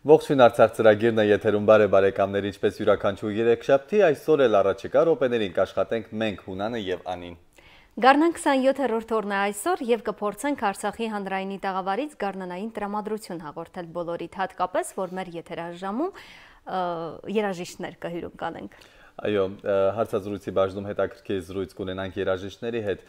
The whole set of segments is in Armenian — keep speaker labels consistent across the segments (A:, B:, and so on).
A: Ողջույն Արցախ ծրագիրն է եթերում բարեկամներ, ինչպես յուրաքանչյուր երեքշաբթի, այսօր էլ առաջիկա րոպեներին կաշխատենք մենք Հունանը եւ Անին։
B: Գարնան 27-րդ օրն է այսօր եւ կփորձենք Արցախի հանրայինի տաղավարից գարնանային տրամադրություն հաղորդել բոլորիդ, հատկապես որ մեր եթերաժամում երաժիշտներ կհյուրում կանենք։
A: Այո, հարցազրույցի բաժնում հետաքրքիր զրույց կունենանք երաժիշտների հետ,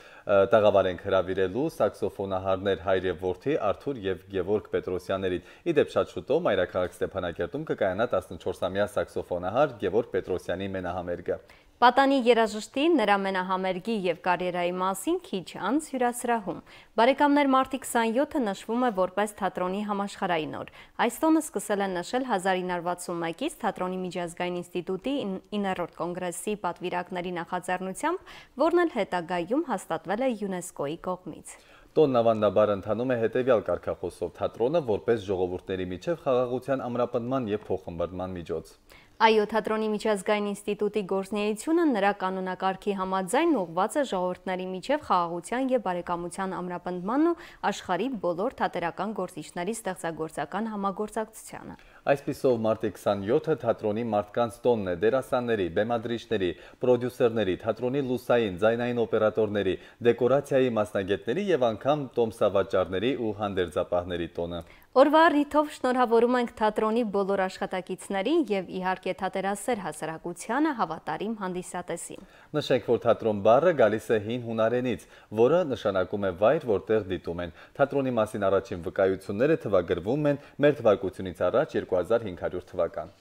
A: տաղավարենք հրավիրելու սաքսոֆոնահարներ հայր եւ որդի Արթուր եւ Գևորգ Պետրոսյաններից։ Իդեպ շատ շուտով մայրաքաղաք Ստեփանակերտում կկայանա 14-ամյա սաքսոֆոնահար Գևորգ Պետրոսյանի մենահամերգը։
B: Պատանի երաժշտի, նրա մենահամերգի եւ կարիերայի մասին քիչ անց հյուրասրահում։ Բարեկամներ, մարտի 27-ը նշվում է որպես թատրոնի համաշխարհային օր։ Այս տոնը սկսել են նշել 1961-ից թատրոնի միջազգային ինստիտուտի 9-րդ կոնգրեսի պատվիրակների նախաձեռնությամբ, որն էլ հետագայում հաստատվել է ՅՈՒՆԵՍԿՕ-ի կողմից։
A: Տոնն ավանդաբար ընթանում է հետևյալ կարգախոսով՝ թատրոնը որպես ժողովուրդների միջև խաղաղության ամրապնդման եւ փոխըմբռնման միջոց։
B: Այո, թատրոնի միջազգային ինստիտուտի գործունեությունը նրա կանոնակարգի համաձայն ուղղված է ժողովուրդների միջև խաղաղության եւ բարեկամության ամրապնդմանն ու աշխարհի բոլոր թատերական գործիչների ստեղծագործական համագործակցությանը։
A: Այսպիսով մարտի 27-ը թատրոնի մարդկանց տոնն է դերասանների, բեմադրիչների, պրոդյուսերների, թատրոնի լուսային, ձայնային օպերատորների, դեկորացիայի մասնագետների եւ անգամ տոմսավաճառների ու հանդերձապահների տոնը։
B: Օրվա առիթով շնորհավորում ենք թատրոնի բոլոր աշխատակիցներին եւ իհարկե թատերասեր հասարակությանը հավատարիմ հանդիսատեսին։
A: Նշենք, որ թատրոն բառը գալիս է հին հունարենից, որը նշանակում է վայր, որտեղ դիտում են։ Թատրոնի մասին առաջին վկայությունները թվագրվում են մեր թվարկությունից առաջ 2500 թվական։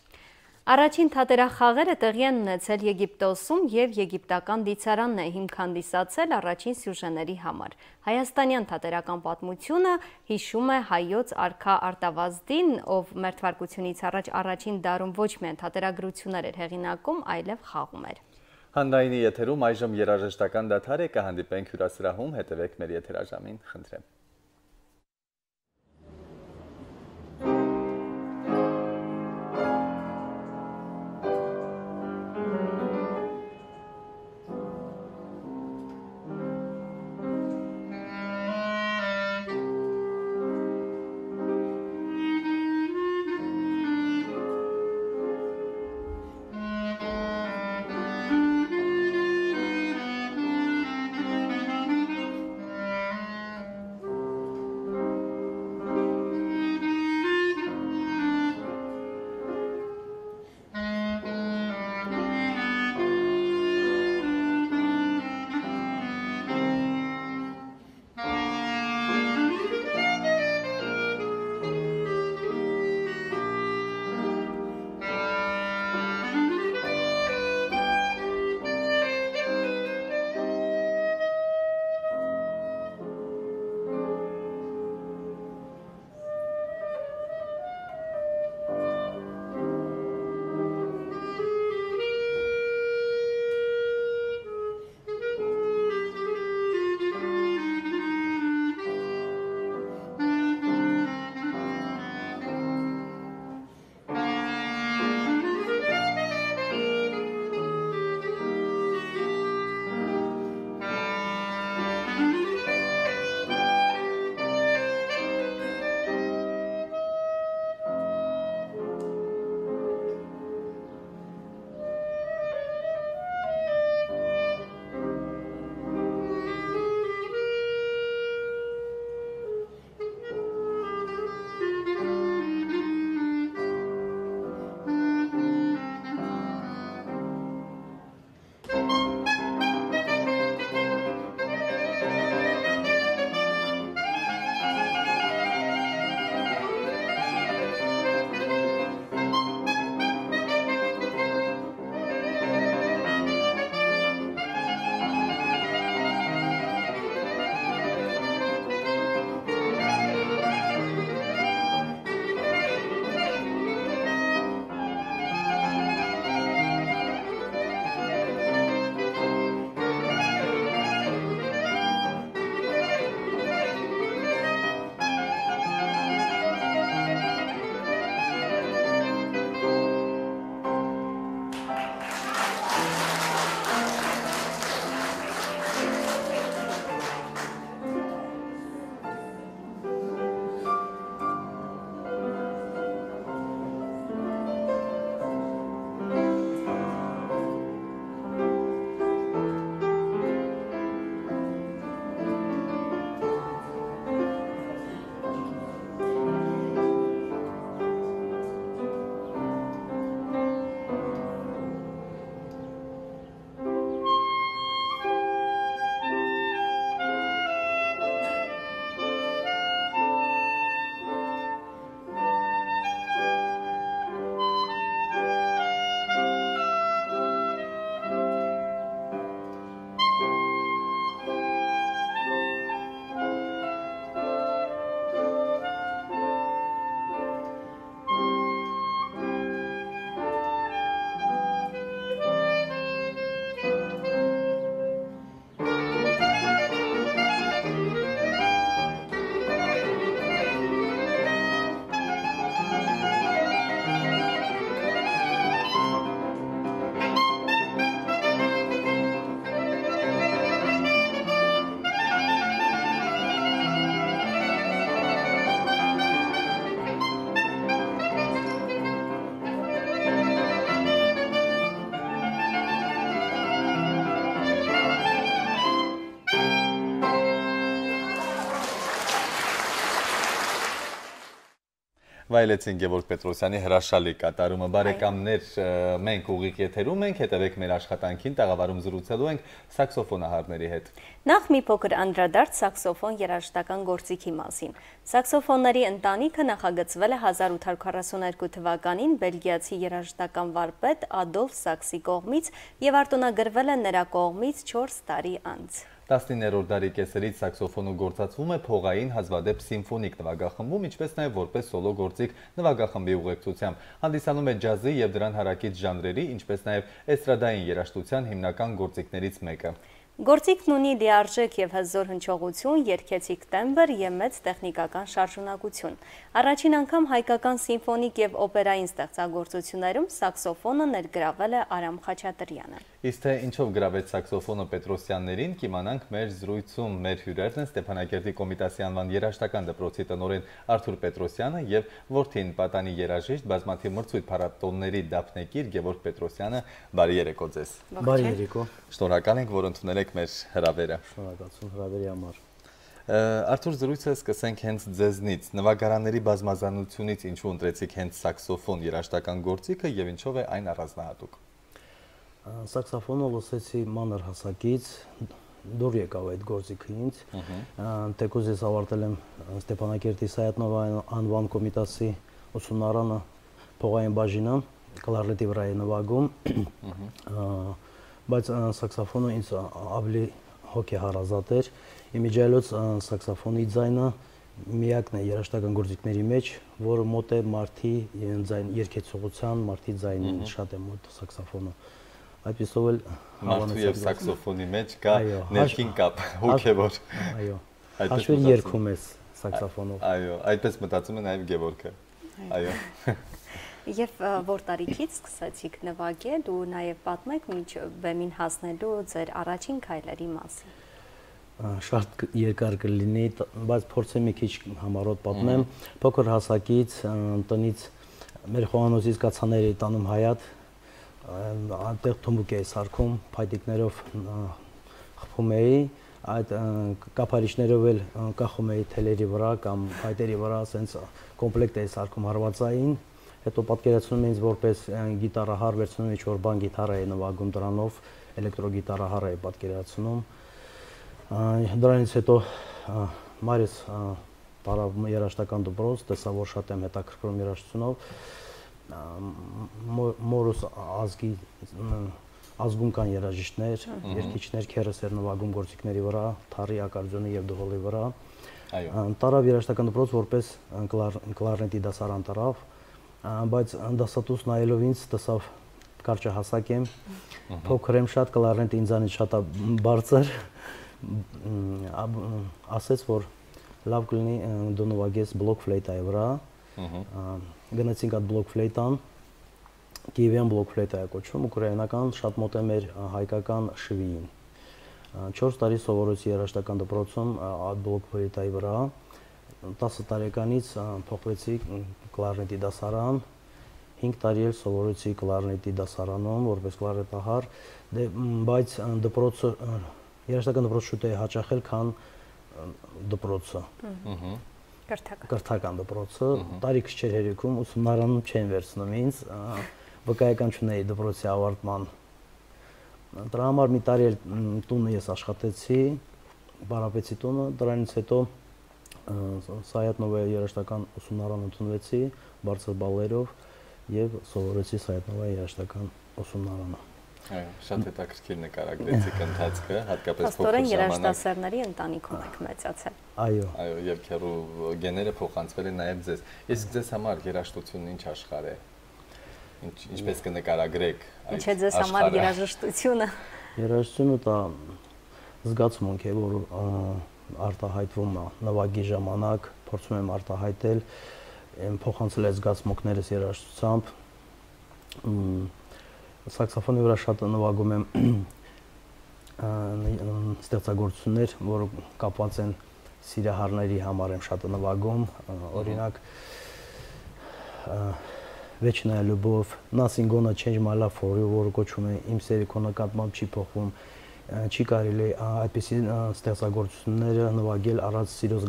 B: Առաջին թատերախաղերը տեղի են ունեցել Եգիպտոսում եւ եգիպտական դիցարանն է հիմք հանդիսացել առաջին սյուժեների համար։ Հայաստանյան թատերական պատմությունը հիշում է հայոց արքա Արտավազդին, ով մեր թվարկությունից առաջ առաջին դարում ոչ միայն թատերագրություններ էր հեղինակում, այլև խաղում էր։
A: Հանրայինի եթերում այժմ երաժշտական դադար է, կհանդիպենք հյուրասրահում, հետևեք մեր եթերաժամին, խնդրեմ։ Վայելեցին Գևորգ Պետրոսյանի հրաշալի կատարումը, բարեկամներ, մենք ուղիղ եթերում ենք, հետևեք մեր աշխատանքին, տաղավարում զրուցելու ենք սաքսոֆոնահարների հետ։
B: Նախ մի փոքր անդրադարձ սաքսոֆոն երաժշտական գործիքի մասին։ Սաքսոֆոնների ընտանիքը նախագծվել է 1842 թվականին բելգիացի երաժշտական վարպետ Ադոլֆ Սաքսի կողմից և արտոնագրվել է նրա կողմից 4 տարի անց։
A: 19-րդ դարի կեսերից սաքսոֆոնը գործածվում է փողային հազվադեպ սիմֆոնիկ նվագախմբում, ինչպես նաև որպես սոլո գործիք նվագախմբի ուղեկցությամբ։ Հանդիսանում է ջազի և դրան հարակից ժանրերի, ինչպես նաև էստրադային երաժշտության հիմնական գործիքներից մեկը։
B: Գործիքն ունի լիարժեք և հզոր հնչողություն, երգեցիկ տեմբր և մեծ տեխնիկական շարժունակություն։ Առաջին անգամ հայկական սիմֆոնիկ և օպերային ստեղծագործություններում սաքսոֆոնը ներգրավել է Արամ Խաչատրյանը։
A: Իսկ թե ինչով գրավեց սաքսոֆոնը Պետրոսյաններին, կիմանանք մեր զրույցում։ Մեր հյուրերն են Ստեփանակերտի Կոմիտասի անվան երաժշտական դպրոցի տնօրեն Արթուր Պետրոսյանը և որդին պատանի երաժիշտ, բազմաթիվ մրցույթ փառատոների դափնեկիր Գևորգ Պետրոսյանը։ Բարի երեկո ձեզ։
C: Բարի երեկո։
A: Շնորհակալ ենք, որ ընդունել եք մեր հրավերը։
C: Շնորհակալություն հրավերի համար։
A: Արթուր, զրույցը սկսենք հենց ձեզնից։ Նվագարանների բազմազանությունից ինչու ընտրեցիք հենց սաքսոֆոն երաժշտական գործիքը և ինչով է այն առանձնահատուկ։
C: Սաքսոֆոնը լսեցի մանր հասակից, դուր եկավ այդ գործիքը ինձ։ Թեկուզ ես ավարտել եմ Ստեփանակերտի Սայաթնովա անվան Կոմիտասի ուսումնարանը փողային բաժինը, կլարնետի վրա է նվագում, բայց սաքսոֆոնը ինձ ավելի հոգեհարազատ էր։ Իմիջիայլոց սաքսոֆոնի ձայնը միակն է երաժշտական գործիքների մեջ, որը մոտ է մարդի երգեցողության, մարդի ձայնին շատ է մոտ սաքսոֆոնը։ Այդպիսով էլ
A: մարդու և սաքսոֆոնի մեջ կա ներքին կապ, հոգևոր։
C: Այո, հաշվին երգում ես սաքսոֆոնով։
A: Այո, այդպես մտածում է նաև Գևորգը։ Այո։
B: Եվ որ տարիքից սկսեցիք նվագել ու նաև պատմեք մինչ բեմին հասնելու ձեր առաջին քայլերի մասին։
C: Շատ երկար կլինի, բայց փորձեմ մի քիչ համառոտ պատմեմ։ Փոքր հասակից տնից մեր խոհանոցից կացաներ էի տանում Հայատ, այնտեղ թմբուկ էի սարքում, փայտիկներով խփում էի, այդ կափարիչներով էլ կախում էի թելերի վրա կամ փայտերի վրա, ասենց կոմպլեկտ էի սարքում հարվածային, հետո պատկերացնում էի ինձ որպես գիտարահար, վերցնում էի ինչ-որ բան գիտարա էի նվագում դրանով, էլեկտրոգիտարահար էի պատկերացնում։ Դրանից հետո մայրս տարավ երաժշտական դպրոց, տեսա, որ շատ եմ հետաքրքրում երաժշտությունով, մորս ազգում կան երաժիշտներ, երգիչներ, քերս էր նվագում գործիքների վրա, թառի, ակարդեոնի և դհոլի վրա։ Տարավ երաժշտական դպրոց որպես կլարնետի դասարան տարավ, բայց դասատուս նայելով ինձ տեսավ կարճահասակ եմ, փոքր եմ շատ, կլարնետը ինձանից շատ բարձր, ասեց, որ լավ կլինի դու նվագես բլոկ ֆլեյտայի վրա, գնացինք այդ բլոկ ֆլեյտան, Կիևյան բլոկ ֆլեյտա է կոչվում, ուկրաինական, շատ մոտ է մեր հայկական շվիին։ 4 տարի սովորեցի երաժշտական դպրոցում այդ բլոկ ֆլեյտայի վրա, 10 տարեկանից փոխվեցի կլարնետի դասարան, 5 տարի էլ սովորեցի կլարնետի դասարանում, որպես կլարնետահար, բայց դպրոցը, երաժշտական դպրոցը շուտ է հաճախել, քան դպրոցը։ Կրթական դպրոցը, տարիքս չէր հերիքում, ուսումնարանում չեն վերցնում ինձ, վկայական չունեի դպրոցի ավարտման։ Դրա համար մի տարի էլ տունը ես աշխատեցի, պարապեցի տունը, դրանից հետո Սայաթնովայի երաժշտական ուսումնարան ընդունվեցի բարձր բալերով և սովորեցի Սայաթնովայի երաժշտական ուսումնարանը։
A: Այո, շատ հետաքրքիր նկարագրեցիք ընթացքը, հատկապես փոքր
B: Փաստորեն
A: ժամանակ։
B: երաժշտասերների ընտանիքում եք մեծացել։
C: Այո։
A: Այո, եւ քեռու գեները փոխանցվել են նաև ձեզ։ Իսկ ձեզ համար երաժշտությունն ինչ աշխարհ է։ Ինչպես կնկարագրեք այդ աշխարհը։
B: Ինչ է ձեզ համար երաժշտությունը։
C: Երաժշտությունը դա զգացմունք է, որ արտահայտվում է նվագի ժամանակ, փորձում եմ արտահայտել, փոխանցել այդ զգացմունքներս երաժշտությամբ։ Սաքսոֆոնի վրա շատ նվագում եմ ստեղծագործություններ, որը կապված են սիրահարների համար եմ շատ նվագում, օրինակ Вечная любовь, Nothing gonna change my love for you, որը կոչվում է իմ սերը քո նկատմամբ չի փոխվում, չի կարելի այդպիսի ստեղծագործությունները նվագել առանց սիրո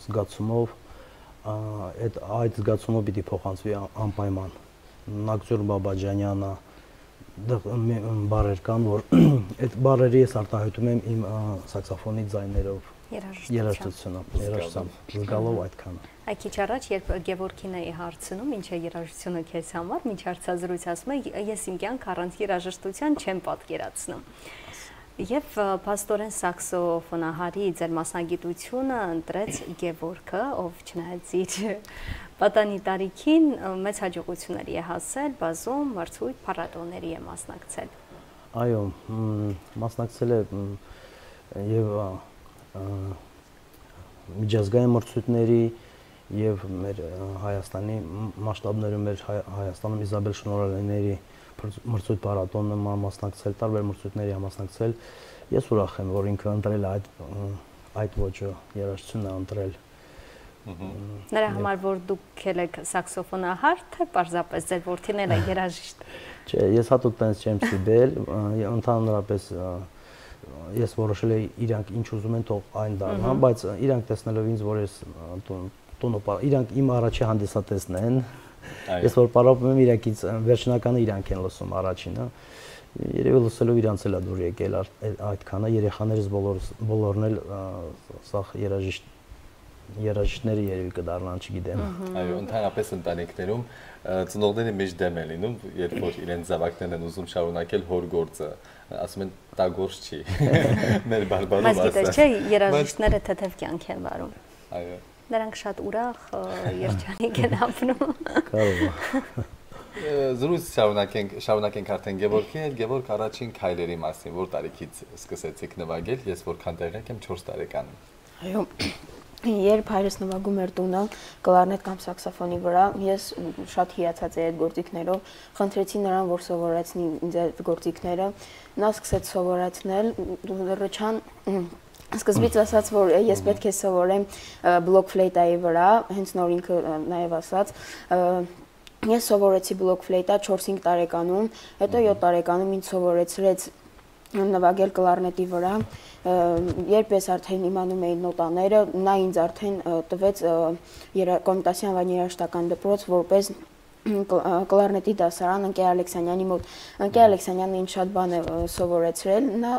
C: զգացումով, այդ զգացումը պիտի փոխանցվի անպայման։ Ակտոր Բաբաջանյանը բարեր կան, որ այդ բարերը ես արտահայտում եմ իմ սաքսոֆոնի ձայներով, երաժշտությամբ, զգալով այդքանը։
B: Այ քիչ առաջ, երբ Գևորգին էի հարցնում, ինչ է երաժշտությունը քեզ համար, մինչ հարցազրույց ասում է, ես իմ կյանք առանց երաժշտության չեմ պատկերացնում։ Եվ փաստորեն սաքսոֆոնահարի ձեր մասնագիտությունը ընտրեց Գևորգը, ով չնայած իր պատանի տարիքին մեծ հաջողությունների է հասել, բազում մրցույթ փառատոների է մասնակցել։
C: Այո, մասնակցել է եւ միջազգային մրցույթների եւ մեր Հայաստանի մասշտաբներում մեր Հայաստանում Իզաբել Շնորհալիների մրցույթ փառատոնը մասնակցել, տարբեր մրցույթների մասնակցել։ Ես ուրախ եմ, որ ինքը ընտրել այդ ոճը, երաժշտությունն է ընտրել։
B: Նրա համար, որ դուք եք սաքսոֆոնահար, թե պարզապես ձեր որդին էլ է երաժիշտ։
C: Չէ, ես հատուկ տենց չեմ սիրել, ընդհանրապես ես որոշել եի իրանք ինչ ուզում են թող այն դառնա, բայց իրանք տեսնելով ինձ, որ ես իրանք իմ առաջի հանդիսատեսն են, ես որ պարապում եմ իրանքից վերջնականը իրանք են լսում առաջինը, երևի լսելով իրանց էլ է դուր եկել այդքանը, երեխաներս բոլորն էլ սա երաժիշտները երևի կդառնան, չգիտեմ։
A: Այո, ընդհանրապես ընտանիքներում ծնողները միշտ դեմ են լինում, երբ որ իրենց զավակներն են ուզում շարունակել հոր գործը, ասում են դա գործ չի։ Մեր բարբարով ասա։
B: Բայց գիտես, չէ, երաժիշտները թեթև կյանք են վարում։
A: Այո։
B: Նրանք շատ ուրախ երջանիկ են ապրում։
C: Կարող է։
A: Զրույց շարունակենք արդեն Գևորգի հետ, Գևորգ առաջին քայլերի մասին, որ տարիքից սկսեցիք նվագել, ես որքան տեղյակ եմ 4 տարեկանում։
D: Այո, երբ հայրս նվագում էր տունը կլարնետ կամ սաքսոֆոնի վրա, ես շատ հիացած էի այդ գործիքներով, խնդրեցի նրան, որ սովորեցնի ինձ այդ գործիքները, նա սկսեց սովորեցնել, Ռոչան սկզբից ասաց, որ ես պետք է սովորեմ բլոկ ֆլեյտայի վրա, հենց նոր ինքը նաև ասաց, ես սովորեցի բլոկ ֆլեյտա 4-5 տարեկանում, հետո 7 տարեկանում ինձ սովորեցրեց նվագել կլարնետի վրա, երբ ես արդեն իմանում էի նոտաները, նա ինձ արդեն տվեց Կոմիտասի անվանի երաժշտական դպրոց, որպես կլարնետի դասարան Ընկեր Ալեքսանյանի մոտ։ Ընկեր Ալեքսանյանը ինձ շատ բան է սովորեցրել, նա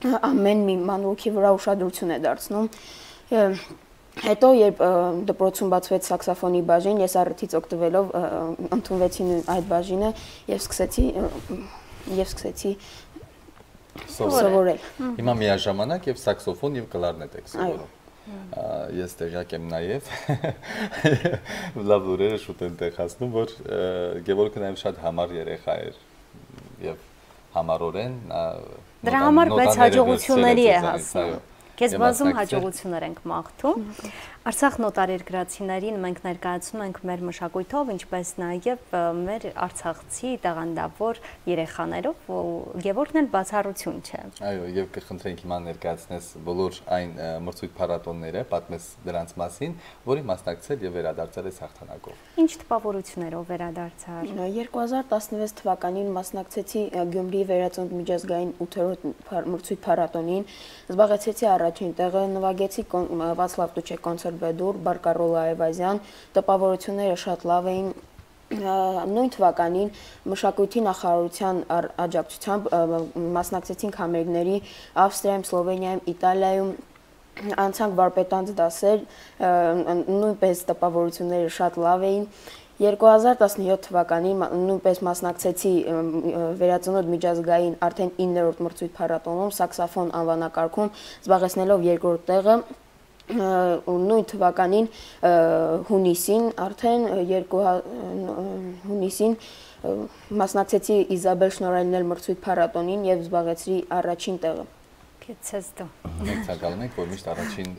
D: ամեն մի մանրուքի վրա ուշադրություն է դարձնում։ Հետո երբ դպրոցում բացվեց սաքսոֆոնի բաժին, ես առիթից օգտվելով ընդունվեցի այդ բաժինը եւ սկսեցի սովորել։
A: Հիմա միաժամանակ եւ սաքսոֆոն եւ կլարնետ եք սովորում։ Ես տեղյակ եմ նաեւ լավ լուրերը շուտ են տեղ հասնում, որ Գևորգը նաեւ շատ համառ երեխա էր եւ համառորեն
B: դրա համար բայց հաջողությունների է հասնում։ Քեզ բազում հաջողություններ ենք մաղթում։ Արցախ նոտարերկրացիներին մենք ներկայացնում ենք մեր մշակույթով, ինչպես նաև մեր արցախցի տաղանդավոր երեխաներով, Գևորգն էլ բացառություն չէ։
A: Այո, եւ կխնդրենք հիմա ներկայացնես բոլոր այն մրցույթ փառատոնները, պատմես դրանց մասին, որի մասնակցել եւ վերադարձել ես հաղթանակով։
B: Ինչ տպավորություններով վերադարձար։
D: 2016 թվականին մասնակցեցի Գյումրիի վերածնունդ միջազգային 8-րդ մրցույթ փառատոնին, զբաղեցրեցի առաջին տեղը, նվագեցի Վացլավ Տուչե կոնցերտ Բեդուր, Բարկարոլ Այվազյան, տպավորությունները շատ լավ էին։ Նույն թվականին մշակույթի նախարարության աջակցությամբ մասնակցեցինք համերգների Ավստրիայում, Սլովենիայում, Իտալիայում, անցանք վարպետանց դասեր, նույնպես տպավորությունները շատ լավ էին։ 2017 թվականին նույնպես մասնակցեցի վերածնունդ միջազգային արդեն 9-րդ մրցույթ փառատոնում սաքսոֆոն անվանակարգում, զբաղեցնելով 2-րդ տեղը։ Նույն թվականին հունիսին արդեն մասնակցեցի Իզաբել Շնորհալիներ մրցույթ փառատոնին եւ զբաղեցրի առաջին տեղը։
B: Քեզ դու։
A: Մենք ցանկանում ենք, որ միշտ առաջին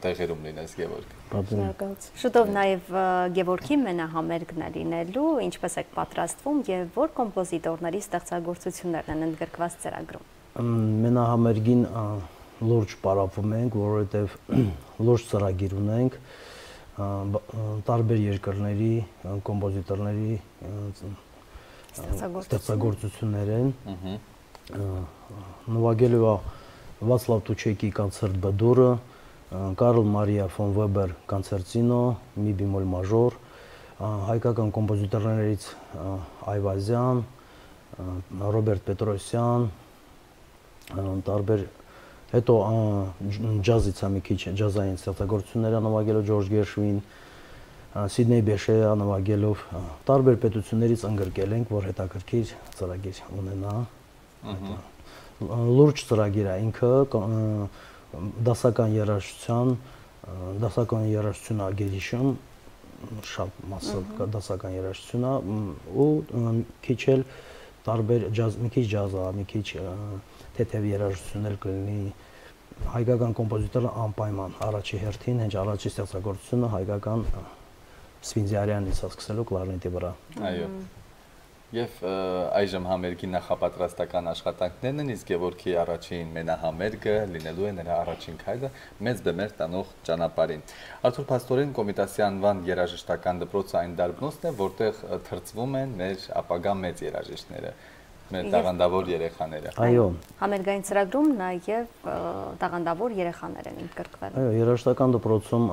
A: տեղերում լինես Գևորգ։
D: Շնորհակալություն։
B: Շուտով նաև Գևորգի մենահամերգն է լինելու, ինչպես եք պատրաստվում եւ որ կոմպոզիտորների ստեղծագործություններն են ընդգրկված ծրագրում։
C: Մենահամերգին լուրջ պարապում ենք, որովհետև լուրջ ծրագիր ունենք, տարբեր երկրների կոմպոզիտորների ստեղծագործություններ են։ Նվագելու է Վացլավ Տուչեկի կոնցերտ Բդուրը, Կարլ Մարիա ֆոն Վեբեր կոնցերտինո, մի բեմոլ մաժոր, հայկական կոմպոզիտորներից Այվազյան, Ռոբերտ Պետրոսյան, տարբեր հետո ջազից մի քիչ ջազային ստեղծագործություններ նվագելով Ջորջ Գերշվին, Սիդնեյ Բեշեյը նվագելով տարբեր պետություններից ընդգրկել ենք, որ հետաքրքիր ծրագիր ունենա։ Լուրջ ծրագիր է ինքը դասական երաժշտություն ագերիշում շատ մասը դասական երաժշտություն է ու քիչ էլ տարբեր ջազ, մի քիչ ջազա, մի քիչ թեթև երաժշտություն էլ կլինի հայկական կոմպոզիտորը անպայման առաջի հերթին, հենց առաջի ստեղծագործությունը հայկական Սվինձիարյանից սկսելու կլարնետի վրա։
A: Այո։ Եվ այժմ համերգի նախապատրաստական աշխատանքներն են, իսկ Գևորգի առաջին մենահամերգը լինելու է նրա առաջին քայլը մեծ բեմեր տանող ճանապարհին։ Արթուր Փաստորեն Կոմիտասի անվան երաժշտական դպրոցը այն դարբնոցն է, որտեղ թրծվում են մեր ապագա մեծ երաժիշտները, մեր տաղանդավոր երեխաները։
C: Այո։
B: Համերգային ծրագրում նաև տաղանդավոր երեխաներ են ընդգրկվել։
C: Այո, երաժշտական դպրոցում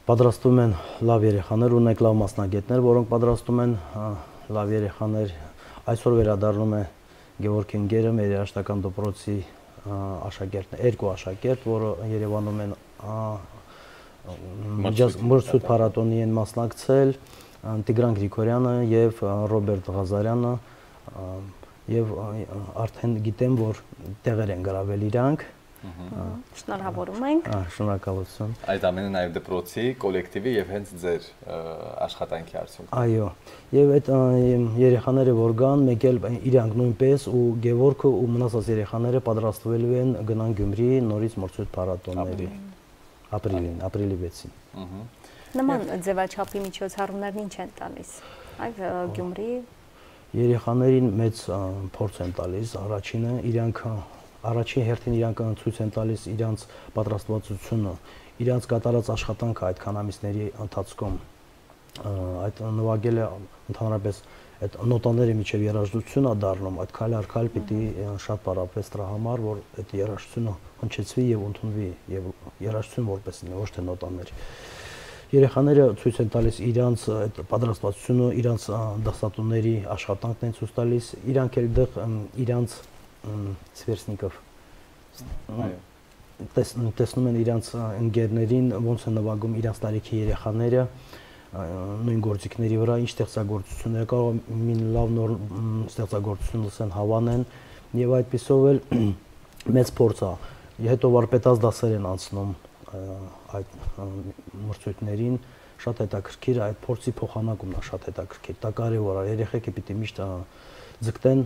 C: պատրաստում են լավ երեխաներ, ունենք լավ մասնագետներ, որոնք պատրաստում են լավ երեխաներ։ Այսօր վերադառնում է Գևորգ Ինգերը, մեր երաժշտական դպրոցի աշակերտն, երկու աշակերտ, որը Երևանում են Մրցույթ փառատոնի են մասնակցել, Տիգրան Գրիգորյանը եւ Ռոբերտ Ղազարյանը, եւ արդեն գիտեմ, որ տեղեր են գրավել իրանք։
B: Շնորհավորում ենք։
C: Շնորհակալություն։
A: Այդ ամենը նաև դպրոցի, կոլեկտիվի եւ հենց ձեր աշխատանքի արդյունք։
C: Այո, եւ այդ երեխաները որ գան, մեկ էլ իրանք նույնպես ու Գևորգը ու մնացած երեխաները պատրաստվելու են գնան Գյումրի նորից մրցույթ փառատոնների ապրիլի 6-ին։
B: Նման ձևաչափի միջոցառումներն ինչ են տալիս։ Այ Գյումրի
C: երեխաներին մեծ փորձ են տալիս, առաջինը իրանք առաջին հերթին իրանք ցույց են տալիս իրանց պատրաստվածությունը, իրանց կատարած աշխատանքը այդքան ամիսների ընթացքում, այդ նվագելը ընդհանրապես այդ նոտաները միջև երաժշտություն է դառնում, այդ քայլ առ քայլ պիտի շատ պարապվեց դրա համար, որ այդ երաժշտությունը հնչեցվի եւ ընդունվի եւ երաժշտություն որպես լինի, ոչ թե նոտաներ։ Երեխաները ցույց են տալիս իրանց այդ պատրաստվածությունը, իրանց դասատուների աշխատանքն են ցույց տալիս, իրանք էլ դեռ իրանց Սվերսնիկով տեսնում են իրանց ընկերներին ոնց են նվագում իրանց տարիքի երեխաները նույն գործիքների վրա ինչ ստեղծագործություններ կարող մի լավ նոր ստեղծագործություն լսեն հավանեն եւ այդպիսով էլ մեծ փորձ է հետո վարպետաց դասեր են անցնում այդ մրցույթներին շատ հետաքրքիր այդ փորձի փոխանակումն է շատ հետաքրքիր դա կարեւոր է երեխեքը պիտի միշտ ձգտեն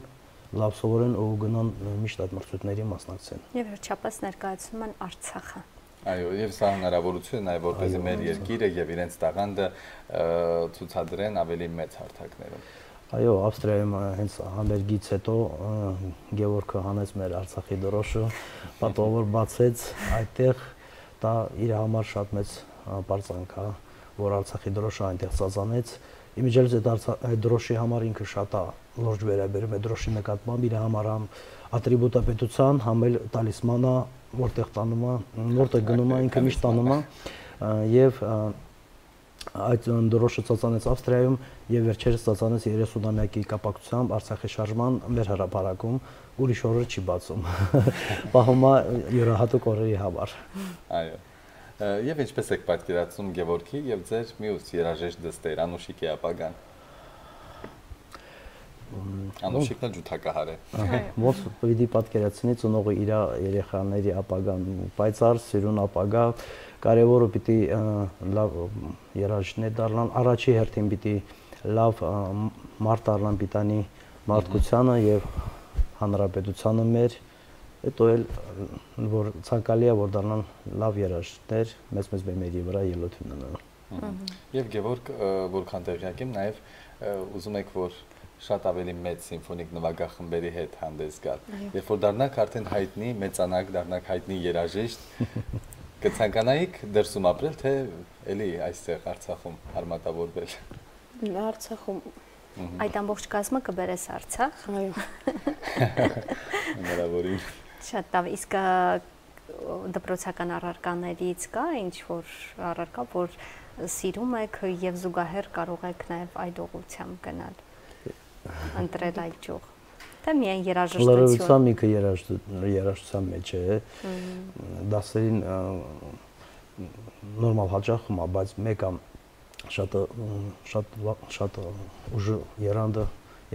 C: լավ սովորեն ու գնան միշտ այդ մրցույթների մասնակցեն։
B: Եվ վերջապես ներկայացնում են Արցախը։
A: Այո, եւ սա հնարավորություն է նաեւ որպեսզի մեր երկիրը եւ իրենց տաղանդը ցուցադրեն ավելի մեծ հարթակներում։
C: Այո, Ավստրիայում հենց համերգից հետո Գևորգը հանեց մեր Արցախի դրոշը, պատվավոր բացեց այդտեղ, դա իր համար շատ մեծ բարձրանք է, որ Արցախի դրոշը այնտեղ ծածանեց։ Իմիջիայլոց այդ դրոշի համար ինքը շատ է լուրջ վերաբերում է դրոշի նկատմամբ իր համար համ ատրիբուտա պետության, համ էլ տալիսման է, որտեղ տանում է, որտեղ գնում է, ինքը միշտ տանում է եւ այդ դրոշը ծածանեց Ավստրիայում եւ վերջերս ծածանեց 30-ամյակի կապակցությամբ Արցախի շարժման մեր հրապարակում, ուրիշ օրը չի բացում։ Պահում է յուրահատուկ օրերի համար։
A: Այո։ Եվ ինչպես եք պատկերացնում Գևորգի եւ ձեր մյուս երաժիշտ դստեր Անուշիկի ապագան։ Անուշիկն ջութակահար է։
C: Ոնց պիտի պատկերացնի ծնողը իր երեխաների ապագան, պայծառ սիրուն ապագա, կարևորը պիտի լավ երաժիշտներ դառնան, առաջի հերթին պիտի լավ մարդ դառնան պիտանի մարդկությանը եւ հանրապետությանը մեր, հետո էլ որ ցանկալի է որ դառնան լավ երաժիշտներ, մեծ բեմերի վրա ելույթ ունենան։
A: Եվ Գևորգ, որքան տեղյակ եմ, նաեւ ուզում եք որ շատ ավելի մեծ սիմֆոնիկ նվագախմբերի հետ հանդես գալ։ Երբ որ դառնաք արդեն հայտնի, մեծանաք, դառնաք հայտնի երաժիշտ, կցանկանայիք դրսում ապրել, թե էլի այստեղ Արցախում արմատավորվել։
D: Արցախում
B: այդ ամբողջ կազմը կբերես Արցախ։
D: Այո։
A: Հնարավորին։
B: Շատ լավ, իսկ դպրոցական առարկաներից կա ինչ-որ առարկա, որ սիրում եք եւ զուգահեռ կարող եք նաեւ այդ ուղղությամբ գնալ, ընտրել այդ ճյուղ։ Թե միայն երաժշտություն։
C: Լրացուցան ինքը երաժշտության մեջ է, դասերին նորմալ հաճախում է, բայց մեկը շատ ուժը երանդը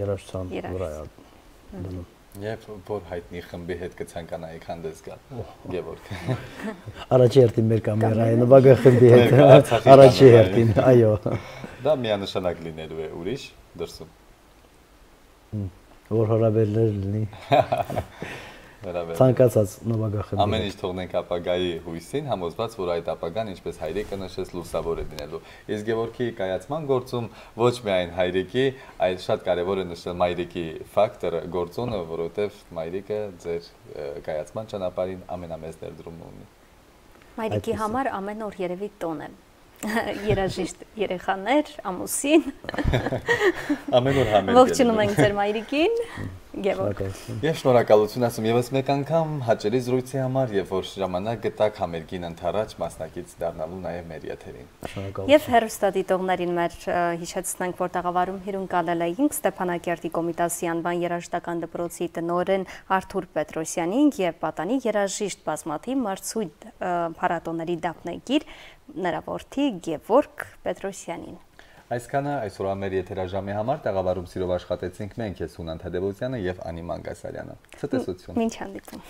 C: երաժշտության վրա է դնում։
A: Եվ որ հայտնի խմբի հետ կցանկանայիք հանդես գալ, Գևորգ։
C: Առաջի հերթին մեր կամերային նվագախմբի հետ, առաջի հերթին, այո։
A: Դա միանշանակ լինելու է ուրիշ դրսում։
C: Որ հրավերներ լինի։ Ցանկացած նվագախմբի։
A: Ամեն ինչ թողնենք ապագայի հույսին, համոզված, որ այդ ապագան, ինչպես հայրիկը նշեց, լուսավոր է լինելու։ Իսկ Գևորգի կայացման գործում ոչ միայն հայրիկի, այլ շատ կարևոր է նշել մայրիկի ֆակտորը, գործոնը, որովհետև մայրիկը ձեր կայացման ճանապարհին ամենամեծ ներդրումն ունի։
B: Մայրիկի համար ամեն օր երևի տոն է։ Երաժիշտ երեխաներ, ամուսին։
A: Ամեն օր համերգ։
B: Ողջունում ենք ձեր մայրիկին, Գևորգ։
A: Եվ շնորհակալություն ասում եւս մեկ անգամ հաճելի զրույցի համար եւ որ ժամանակ գտաք համերգին ընթരാճ մասնակից դառնալու նաեւ մեր եթերին։
B: Եվ հեռուստադիտողներին մեր հիշեցնենք, որ տաղավարում հյուրընկալել էինք Ստեփանակերտի Կոմիտասի անվան երաժշտական դպրոցի տնօրեն Արթուր Պետրոսյանին եւ պատանի երաժիշտ բազմաթիվ մրցույթ փառատոների դափնեկիր նրա որդի Գևորգ Պետրոսյանին։
A: Այսքանը այսօրվա մեր եթերաժամի համար տաղավարում սիրով աշխատեցինք մենք, ես Հունան Թադևոսյանը եւ Անի Մանգասարյանը։ Ցտեսություն։
B: Մինչ հանդիպում։